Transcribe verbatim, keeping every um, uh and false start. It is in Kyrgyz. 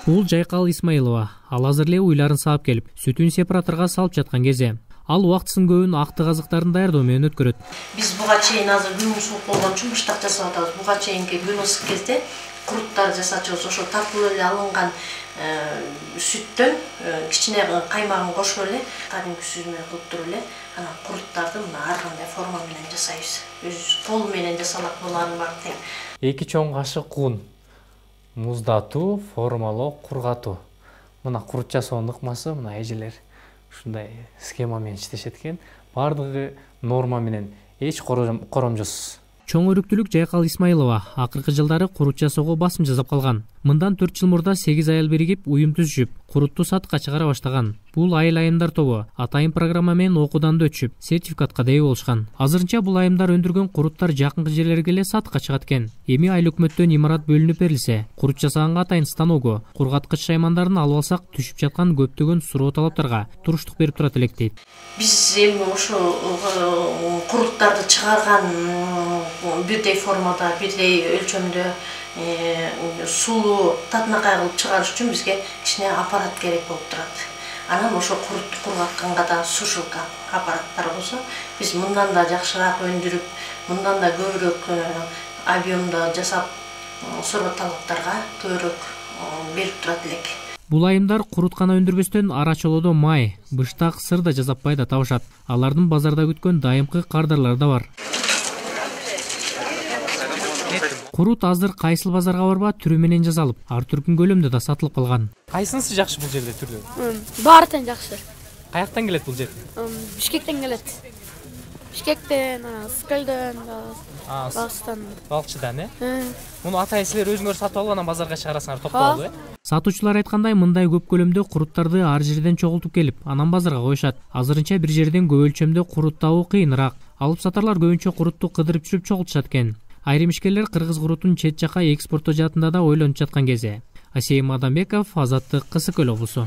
Бул Жайкал Исмаилова. Ал азыр эле уйларын саап келип, сүтүн сепараторго салып жаткан кезде. Ал убактысын көбүн акты казыктарын даярдоо менен өткөрөт. Биз буга чейин азыр күн ысык болгон үчүн быштак жасап атабыз. Буга чейинки күн ысык кезде куруттар жасачубуз. Ошо тартылып эле алынган сүттөн кичине каймагын кошуп эле, кадимки сүзмө кылып туруп эле, анан куруттарды мына ар кандай форма менен жасайбыз. Өз кол менен жасалат булардын баары тең. эки чоң кашык ун, муздатуу, формалоо, кургатуу. Мына курут жасоонун ыкмасы мына эжелер ушундай схема менен иштешет экен. Бардыгы норма менен, эч коромжосуз. Чоң өрүктүүлүк Жайкал Исмаилова акыркы жылдары курут жасоого басым жасап калган. Мындан төрт жыл мурда сегиз аял биригип уюм түзүшүп, курутту сатыкка чыгара баштаган. Бул айыл айымдар тобу атайын программа менен окуудан да өтүшүп, сертификатка да ээ болушкан. Азырынча бул айымдар өндүргөн куруттар жакынкы жерлерге эле сатыкка чыгат экен. Эми айыл өкмөттөн имарат бөлүнүп берилсе, курут жасаганга атайын станогу, кургаткыч шаймандарын алып алсак, түшүп жаткан көптөгөн суроо талаптарга туруштук берип турат элек дейт. Биз эми ошо куруттарды чыгарган бирдей формада, бирдей өлчөмдө сулуу татынакай кылып чыгарыш үчүн бизге кичине аппарат керек болуп турат. Анан ошо курутту кургатканга да сушилка аппараттар болсо, биз мындан да жакшыраак өндүрүп, мындан да көбүрөөк объемдо жасап, суроо талаптарга көбүрөөк берип турат элек. Бул айымдар курут гана өндүрбөстөн ара чолоодо май, быштак, сыр да жасап да табышат. Алардын базарда күткөн дайымкы кардарлары да бар. Курут азыр кайсыл базарга барба түрү менен жасалып, ар түркүн көлөмдө да сатылып калган. Кайсынысы жакшы бул жерде түрдө? Баары тең жакшы. Каяктан келет бул жер? Бишкектен келет. Бишкектен, Скелден, Балчыдан. Балчыдан, э? Муну ата силер өзүңөр сатып алып анан базарга чыгарасыңар, топтоп алып, э? Сатуучулар айткандай, мындай көп көлөмдө куруттарды ар жерден чогултуп келип, анан базарга коюшат. Азырынча бир жерден көп өлчөмдө курут табуу кыйыныраак. Алып сатарлар көбүнчө курутту кыдырып жүрүп чогултушат экен. Айрым ишкерлер кыргыз курутун чет жака экспорттоо жаатында да ойлонуп жаткан кезде. Асейим Адамбеков, Азаттык, Кысыкөл облусу.